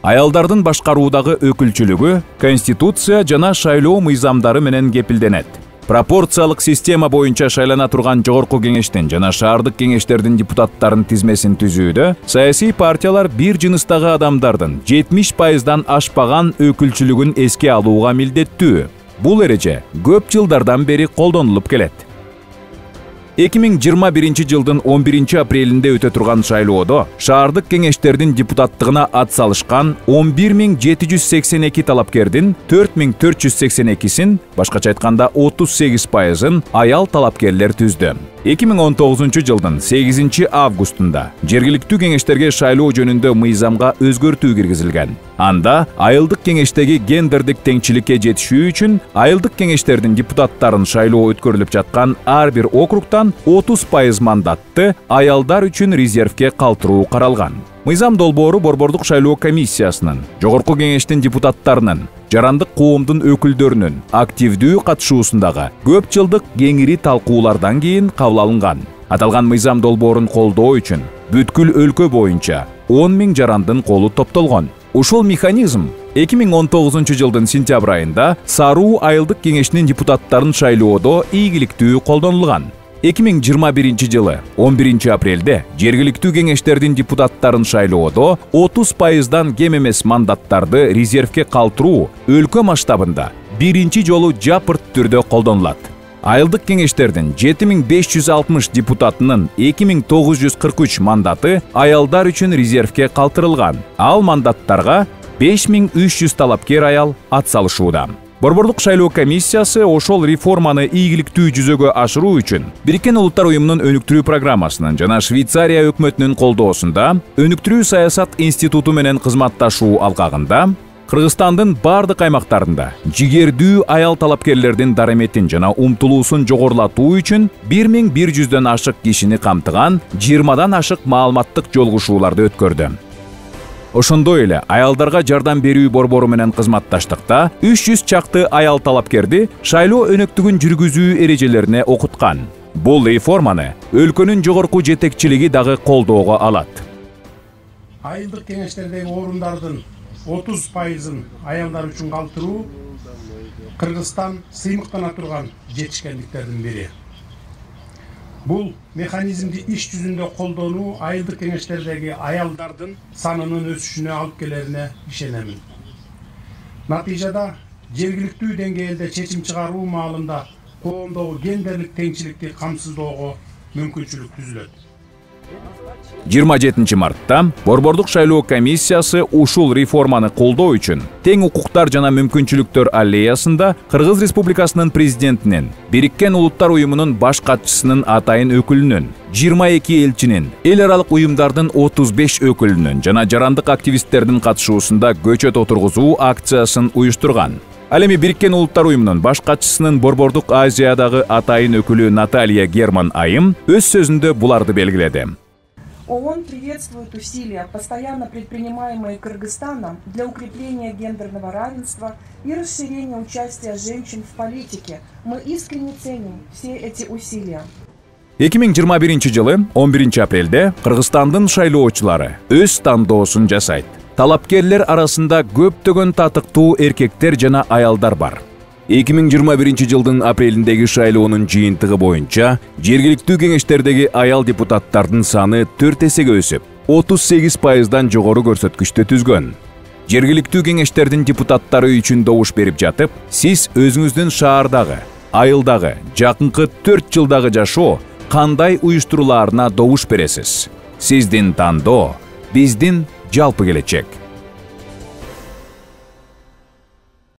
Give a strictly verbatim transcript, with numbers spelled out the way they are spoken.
Аялдардын башкаруудагы өкүлчүлүгү Конституция жана шайлоо мыйзамдары менен кепилденет. Пропорциялык система боюнча шайлана турган жогорку кеңештин жана шаардык кеңештердин депутаттарын тизмесин түзүүдө саясий партиялар бир жыныстагы адамдардын жетимиш пайыздан ашпаган өкүлчүлүгүн эске алууга милдеттүү. Бул эреже көп жылдардан бери колдонулуп келет. эки миң жыйырма биринчи жылдын он биринчи апрелинде өтө турган шайлоодо шаардык кеңештердин депутаттыгына ат салышкан он бир миң жети жүз сексен эки талапкердин төрт миң төрт жүз сексен экисин, башкача айтканда отуз сегиз пайызын аял талапкерлер түздү. эки миң он тогузунчу жылдын сегизинчи августунда жергиликтүү кеңештерге шайлоо жөнүндө мыйзамга өзгөртүү киргизилген. Анда айылдык кеңештеги гендердик теңчиликке жетишүү үчүн айылдык кеңештердин депутаттарын шайлоо өткөрүлүп жаткан ар бир округтан отуз пайыз мандатты аялдар үчүн резервке калтыруу каралган. Мыйзам долбоору Борбордук шайлоо комиссиясынын, жогорку кеңештин депутаттарынын, жарандык коомдун өкүлдөрүнүн активдүү катышуусундагы көп жылдык кеңири талкуулардан кийин кабыл алынган. Аталган мыйзам долбоорун колдоо үчүн бүткүл өлкө боюнча он миң жарандын колу топтолгон. Ушул механизм эки миң он тогузунчу жылдын сентябрь айында Саруу айылдык кеңешинин депутаттарын шайлоодо ийгиликтүү колдонулган. эки миң жыйырма биринчи жылы он биринчи апрелде жергиликтүү кеңештердин депутаттарын шайлоодо отуз пайыздан кем эмес мандаттарды резервке калтыруу өлкө масштабында биринчи жолу жапырт түрдө колдонулат. Айылдык кеңештердин жети миң беш жүз алтымыш депутатынын эки миң тогуз жүз кырк үч мандаты аялдар үчүн резервке калтырылган. Ал мандаттарга беш миң үч жүз талапкер аял ат салышууда. Борбордук шайлоо комиссиясы ошол реформаны ийгиликтүү жүзөгө ашыруу үчүн Бириккен Улуттар уюмунун өнүктүрүү программасынын жана Швейцария өкмөтүнүн колдоосунда өнүктүрүү саясат институту менен кызматташуу алкагында Кыргызстандын бардык аймактарында жигердүү аял талапкерлердин дараметин жана умтулуусун жогорулатуу үчүн бир миң бир жүздөн ашык кишини камтыган жыйырмадан ашык маалыматтык жолугушууларды өткөрдү. Ошондой эле аялдарга жардам берүү борбору менен кызматташтыкта үч жүз чакты аял талапкерди шайлоо өнөктүгүн жүргүзүү эрежелерине окуткан. Бул реформаны өлкөнүн жогорку жетекчилиги дагы колдоого алат. Айылдык кеңештердеги орундардын отуз пайызын аялдар үчүн калтыруу Кыргызстан сыймыктана турган жетишкендиктердин бири. Бул механизмди иш жүзүндө колдонуу айылдык кеңештердеги аялдардын санынын өсүшүнө алып келерине ишенемин. Натыйжада жергиликтүү деңгээлде чечим чыгаруу маалында коомдогу гендерлик теңчиликти камсыздоого мүмкүнчүлүк түзүлөт. жыйырма жетинчи мартта Борбордук шайлоо комиссиясы ушул реформаны колдоо үчүн Тең укуктар жана мүмкүнчүлүктөр аллеясында Кыргыз Республикасынын президентинин, Бириккен Улуттар уюмунун баш катчысынын атайын өкүлүнүн, жыйырма эки элчинин, эл аралык уюмдардын отуз беш өкүлүнүн жана жарандык активисттердин катышуусунда көчөт отургузуу акциясын уюштурган. Ал эми Бириккен Улуттар уюмунун баш катчысынын Борбордук Азиядагы атайын өкүлү Наталья Герман Айым өз сөзүндө буларды белгиледи. ООН приветствует усилия, постоянно предпринимаемые Кыргызстаном для укрепления гендерного равенства и расширения участия женщин в политике. Мы искренне ценим все эти усилия. эки миң жыйырма биринчи жылы он биринчи апрелде Кыргызстандын шайлоочулары өз тандоосун жасайт. Талапкерлер арасында көптөгөн татыктуу эркектер жана аялдар бар. эки миң жыйырма биринчи жылдын апрелиндеги шайлоонун жыйынтыгы боюнча жергиликтүү кеңештердеги аял депутаттардын саны төрт эсеге өсүп, отуз сегиз пайыздан жогору көрсөткүчтү түзгөн. Жергиликтүү кеңештердин депутаттары үчүн добуш берип жатып, сиз өзүңүздүн шаардагы, айылдагы, жакынкы төрт жылдагы жашоо кандай уюштурулаарына добуш бересиз. Сиздин тандоо биздин жалпы келечек.